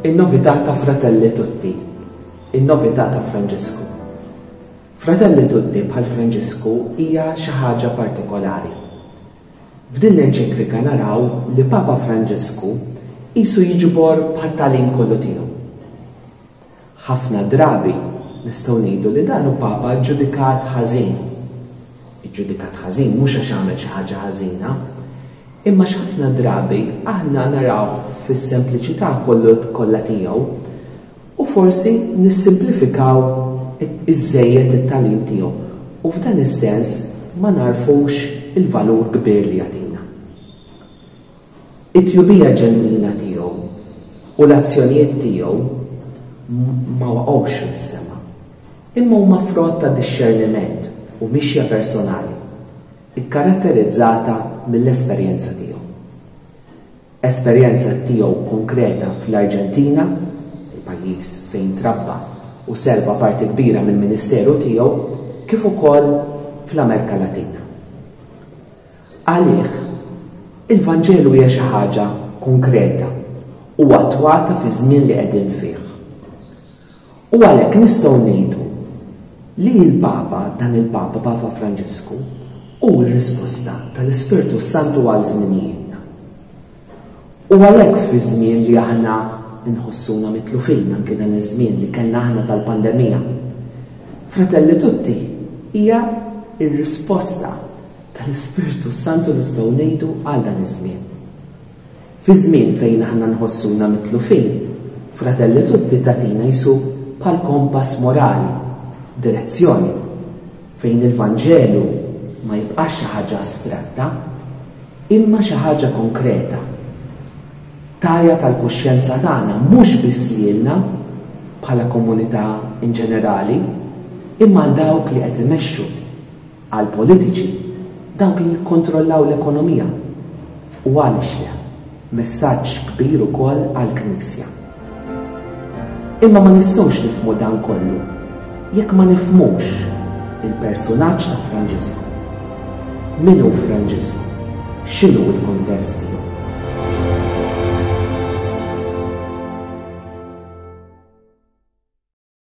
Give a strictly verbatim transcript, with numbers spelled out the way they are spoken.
In-novità ta' Fratelli Tutti, in-novità ta' Franġisku. Fratelli Tutti bħal Franġisku hija xi ħaġa partikolari. F'din l-enċiklika naraw li Papa Franġisku qisu jiġbor bħat-tagħlim kollu tiegħu. Ħafna drabi nistgħu ngħidu li dan hu Papa ġġudikat ħażin. Iġġudikat ħażin mhux għax għamel xi ħaġa ħażina, imma x'ħafna drabi aħna naraw fis-sempliċità kollu kollha tiegħu u forsi nissimplifikaw iżżejjed it-tagħlim tiegħu u f'dan is-sens ma narfux il-valur kbir li jagħtina. It-tjubija ġenwina tiegħu u l-azzjonijiet tiegħu ma waqgħux mis-sema, imma huma frott ta' dixxerniment u mixja personali ikkaratterizzata mill-esperjenza tiegħu. Esperjenza tiegħu konkreta fl-Arġentina, il-pajjiż fejn trabba u serva parti kbira mill-ministeru tiegħu, kif ukoll fl-Amerika Latina. Għalih, il-Vanġelu hija xi ħaġa konkreta u attwata fi żmien li qegħdin fih. U għalhekk nistgħu ngħidu li l-Papa, dan il-Papa, Papa Franġisku, hu r-risposta tal-Ispirtu Santu għal żminijietna. U għalhekk fi żmien li aħna nħossuna mitlufin, anke dan iż-żmien li kellna aħna tal-pandemija, Fratelli Tutti hija r-risposta tal-Ispirtu Santu nistgħu ngħidu għal dan iż-żmien. Fi żmien fejn aħna nħossuna mitlufin, Fratelli Tutti tagħtina jisu bħal kompass morali, direzzjoni, fejn il-Vanġelu ma jibqax xi ħaġa astratta, imma xi ħaġa konkreta. Tajja tal-kuxjenza tagħna mhux biss lilna bħala komunità in ġenerali, imma għal dawk li qed imexxu, għal politiċi, dawk li jikkontrollaw l-ekonomija. U għaliex le, messaġġ kbir ukoll għall-Knisja. Imma ma nistgħux nifhmu dan kollu jekk ma nifhmux il-persunaġġ ta' Franġisku. Min hu Franġisku? X'inhu l-kuntest tiegħu?